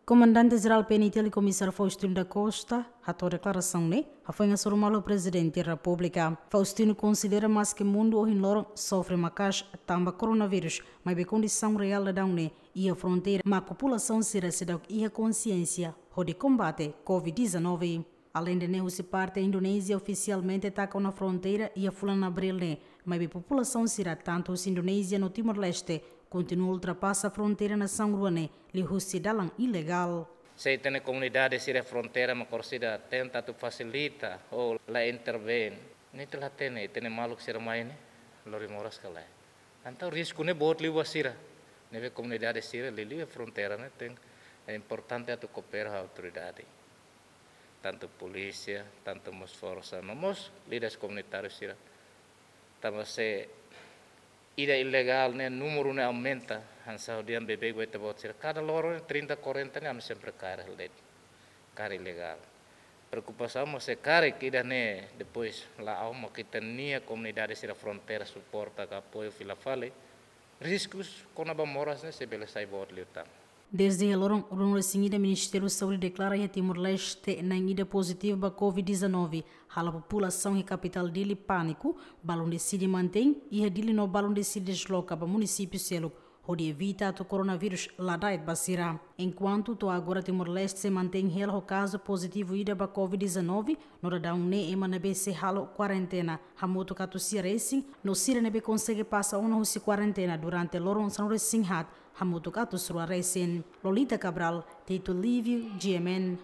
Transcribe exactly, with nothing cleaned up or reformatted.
Komandante Jerál P N T L, Komisáriu Faustino da Costa, hato'o deklarasaun ne'e hafoin hasoru malu Prezidente Repúblika. Faustino konsidera maske mundu ohin loron sofre maka'as tanba koronavírus, maibé kondisaun reál daudaun ne'e iha fronteira mak populasaun sira seidauk iha konsiénsia hodi kombate Covid dezanove. Aleinde ne'e, husi parte Indonézia ofisialmente taka ona fronteira iha fulan Abríl ne'e, maibé populasaun sira tantu husi Indonézia no Timor-Leste kontinua ultrapasa fronteira nasaun rua ne'e liuhusi dalan ilegál. Se ita-nia komunidade sira fronteira mak orsida tenta atu fasilita ou la intervén, ne'e ita la hatene, ita-nia maluk sira mai ne'e lori moras ka lae. Entaun risku ne'e boot liu ba sira. Ne'ebé komunidade sira liuliu iha fronteira ne'e tenke, é importante atu koopera ho autoridade, tantu polísia, tantu mós forsa, no mós líderes komunitáriu sira. Tanba se ida ilegál ne'e númeru ne'e aumenta, hanesan ha'u dehan beibeik ba ita-boot sira. Kada loron ne'e trinta, quarenta ne'e ami sempre kaer hela de'it. Kaer ilegál. Preokupasaun mós se karik ida-ne'e depois la'o, mak ita-nia komunidade sira fronteira suporta ka apoiu fila fali, riskus kona-ba moras ne'e sei bele sai boot liután. Dezde iha loron ruanulu-resin-ida, Ministériu Saúde deklara iha Timor-Leste na'in ida pozitivu ba Covid dezanove, halo populasaun iha kapitál Dili pániku, balun deside mantein iha Dili no balun deside desloka ba munisípiu seluk, hodi evita atu koronavírus la da'et ba sira. Enkuantu to'o agora Timor-Leste sei mantein hela ho kazu pozitivu ida ba Covid dezanove, no daudaun ne'e ema ne'ebé sei halo kuarentena hamutuk atus sia resin, no sira ne'ebé konsege pasa ona husi kuarentena durante loron sanulu-resin-haat hamutuk atus rua resin. Lolita Cabral, Tito Livio, G M N,